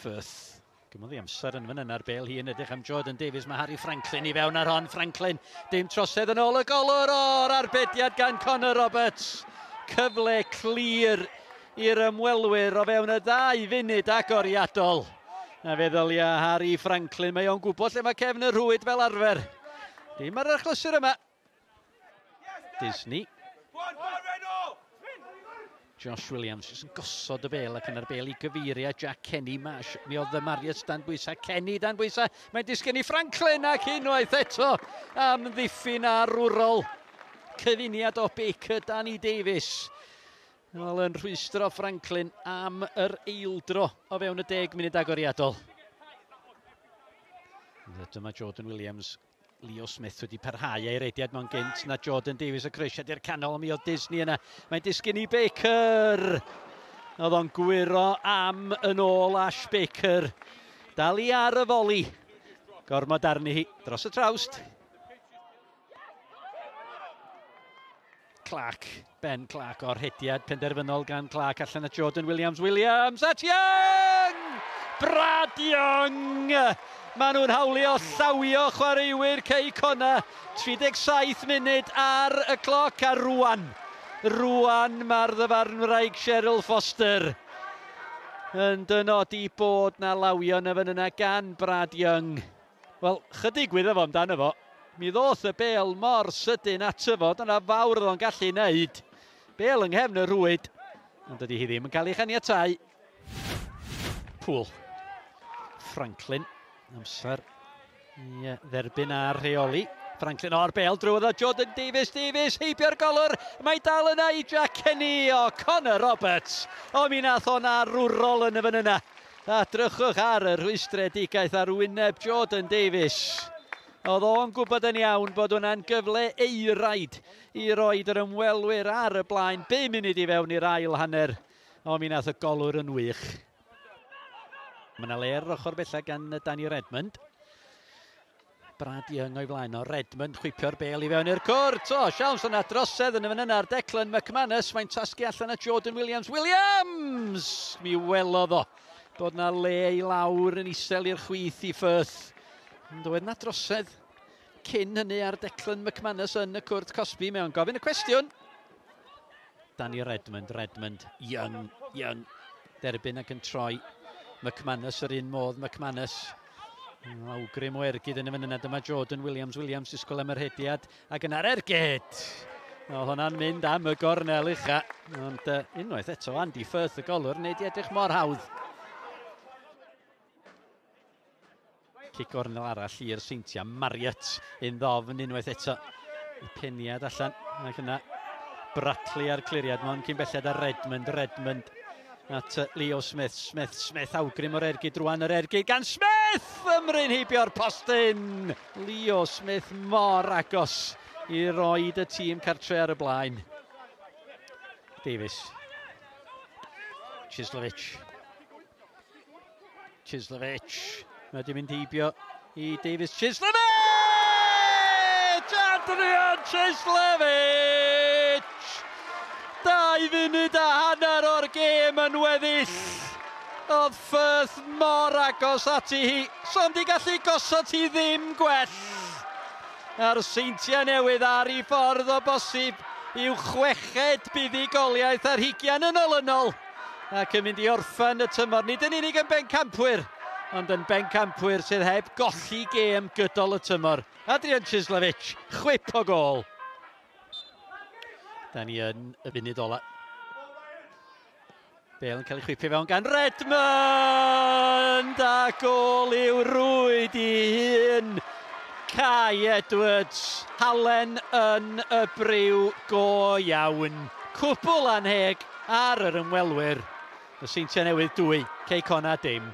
Firth. Gymodd i amser yn fan yna'r bel hi yn edrych am Jordan Davies. Mae Harry Franklin i fewn ar hon. Franklin, dim trosedd yn ôl y golwr o'r arbediad gan Connor Roberts. Cyfle clir i'r ymwelwyr o fewn y 2 funud agoriadol. Na fe ddylia Harry Franklin, mae o'n gwybod lle mae cefn y rhwyd fel arfer. Dim ar yr achlysur yma. Disney. Josh Williams jyst yn gosod y bel ac yna'r bel i gyfeiriad Jack Kenny. Mash, mi oedd y Marius dan bwysau, Kenny dan bwysau. Mae'n disgyn i Franklin ac unwaith eto am ddiffyn arwrol. Cyfuniad o Baker, Danny Davies. Wel, yn rhwystro Franklin am yr eildro o fewn y 10 munud agoriadol. Dyma Jordan Williams. Leo Smith wedi parhau ei rediad mewn gynt na Jordan Davies y croesiad i'r canol, mi oedd Disney yna. Mae'n disgyn i Baker. Oedd o'n gwyro am yn ôl Ash Baker. Dal i ar y foli. Gormod arni hi dros y trawst. Clark, Ben Clark o'r hediad penderfynol gan Clark allan at Jordan Williams. Williams at Young! Brad Young! Maen nhw'n hawlio llawio chwaraewyr Cei Connah. 37 munud ar y cloc a rwan. Rwan mae'r ddyfarnwraig Cheryl Foster yn dynodi bod na lawio yn y fan yna gan Brad Young. Wel, chydig gwyddo fo amdano fo. Mi ddoth y bel mor sydyn ato fo, dyna fawr oedd o'n gallu wneud. Bel yng nghefn y rhwyd, ond dydy hi ddim yn cael ei chaniatáu. Pŵl. Franklin, amser i dderbyn a rheoli. Franklin o'r bel drwodd o Jordan Davies, Davies, heibio'r golwr. Mae dal yna i Jack Kenny o Connor Roberts. O, mi nath o'n arwrol yn y fan yna. A drychwch ar y rhwystredigaeth ar wyneb Jordan Davies. Oedd o'n gwybod yn iawn bod hwnna'n gyfle eiraid i roed yr ymwelwyr ar y blaen. 5 munud i fewn i'r ail hanner. O, mi nath y golwr yn wych. Mae yna le ar ochr bella gan Danny Redmond. Brad Young o'i flaen o. Redmond chwipio'r bel i fewn i'r cwrt. O, siawns yna drosedd yn y fan yna ar Declan McManus. Mae'n tasgu allan at Jordan Williams. Williams! Mi welodd o bod na le i lawr yn isel i'r chwith i Firth. Ond oedd na drosedd cyn hynny ar Declan McManus yn y cwrt cosbi. Mewn gofyn y cwestiwn. Danny Redmond, Redmond, Young, Young. Derbyn ac yn troi. McManus yr un modd, McManus. Awgrym o ergyd yn y fan yna. Dyma Jordan Williams, Williams disgwyl am yr hediad. Ac yna'r ergyd! Oedd hwnna'n mynd am y gornel ucha. Ond unwaith eto, Andy Firth y golwr, wneud i edrych mor hawdd. Cic gornel arall i'r Seintiau. Marriott yn ddofn unwaith eto. Y peniad allan. Ac yna Bradley a'r cliriad. Mae'n cyn belled ar Redmond. Redmond at Leo Smith. Smith, Smith, awgrym o'r ergyd rwan, yr ergyd gan Smith! Ymryn heibio'r postyn! Leo Smith mor agos i roed y tîm cartre ar y blaen. Davies. Chislovich. Chislovich. Mae wedi mynd heibio i Davies. Chislovich! Adrian Chislovich! 2 funud a hanner o'r gêm yn weddill. Oedd Firth mor agos ati hi. So'n di gallu gosod hi ddim gwell. A'r Seintiau Newydd ar ei ffordd o bosib i'w chweched buddugoliaeth ar hugian yn olynol. Ac yn mynd i orffen y tymor, nid yn unig yn bencampwyr, ond yn bencampwyr sydd heb golli gêm gydol y tymor. Adrian Chislovich, chwip o gôl. Da ni yn y funud ola. Bale yn cael ei chwipio fewn gan Redmond! A gôl i'w rwyd i hun. Kai Edwards, halen yn y briw go iawn. Cwbl anheg ar yr ymwelwyr. Y Seintiau Newydd 2, Cei Connah dim.